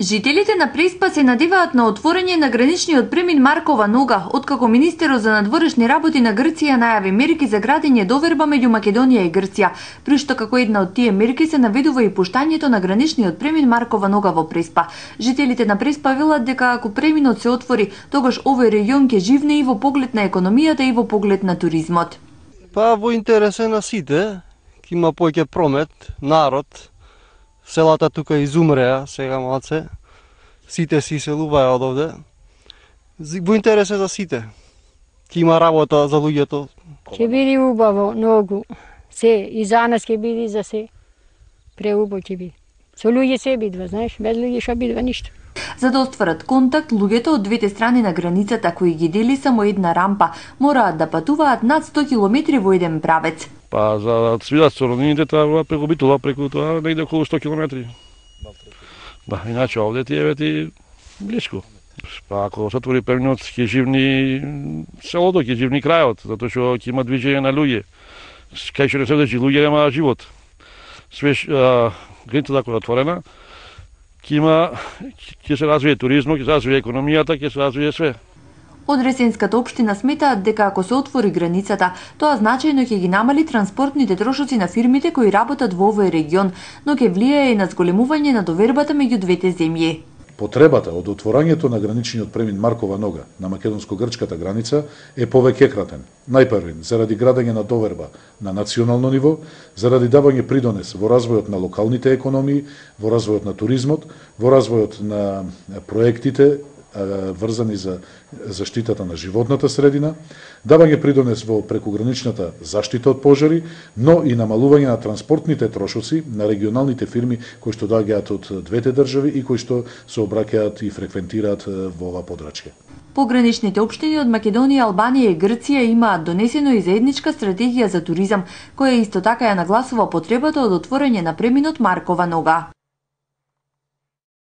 Жителите на Преспа се надеваат на отворање на граничниот премин Маркова нога, откако министерот за надворешни работи на Грција најави мерки за градење доверба меѓу Македонија и Грција, при што како една од тие мерки се наведува и пуштањето на граничниот премин Маркова нога во Преспа. Жителите на Преспа велат дека ако преминот се отвори, тогаш овој регион ќе живне и во поглед на економијата и во поглед на туризмот. Па во интерес на сите, ќе има повеќе промет, народ. Селата тука изумреа, сега малце. Сите се иселуваја од овде. Во интерес за сите. Ќе има работа за луѓето. Ќе биде убаво, многу. Се, и за нас ќе биде, за се. Преубаво ќе биде. Со луѓе се бидва, знаеш, без луѓе што бидва ништо. За да остварат контакт, луѓето од двете страни на границата кои ги дели само една рампа, мораат да патуваат над 100 километри во еден правец. Па за да свидат со роднините треба преку Битола, преку тоа негде околу 100 километри. Да, иначе овде ти еве ти блиску. Па ако се отвори преминот, ќе живни селото, ќе живни крајот, затоа што ќе има движење на луѓе. Кај што не се дечи луѓе нема живот. Свеж границата која е отворена, ќе се развие туризмот, ќе се развие економијата, ќе се развие све. Од Ресенската општина сметаат дека ако се отвори границата, тоа значајно ќе ги намали транспортните трошоци на фирмите кои работат во овој регион, но ќе влијае и на зголемување на довербата меѓу двете земји. Потребата од отворањето на граничниот премин Маркова нога на македонско-грчката граница е повеќекратен. Најпрвен, заради градење на доверба на национално ниво, заради давање придонес во развојот на локалните економии, во развојот на туризмот, во развојот на проектите врзани за заштитата на животната средина, давање придонес во прекуграничната заштита од пожари, но и намалување на транспортните трошоци на регионалните фирми кои што доаѓаат од двете држави и кои што се обраќаат и фреквентираат во ова подрачје. Пограничните општини од Македонија, Албанија и Грција имаат донесено и заедничка стратегија за туризам, која исто така ја нагласува потребата од отворање на преминот Маркова нога.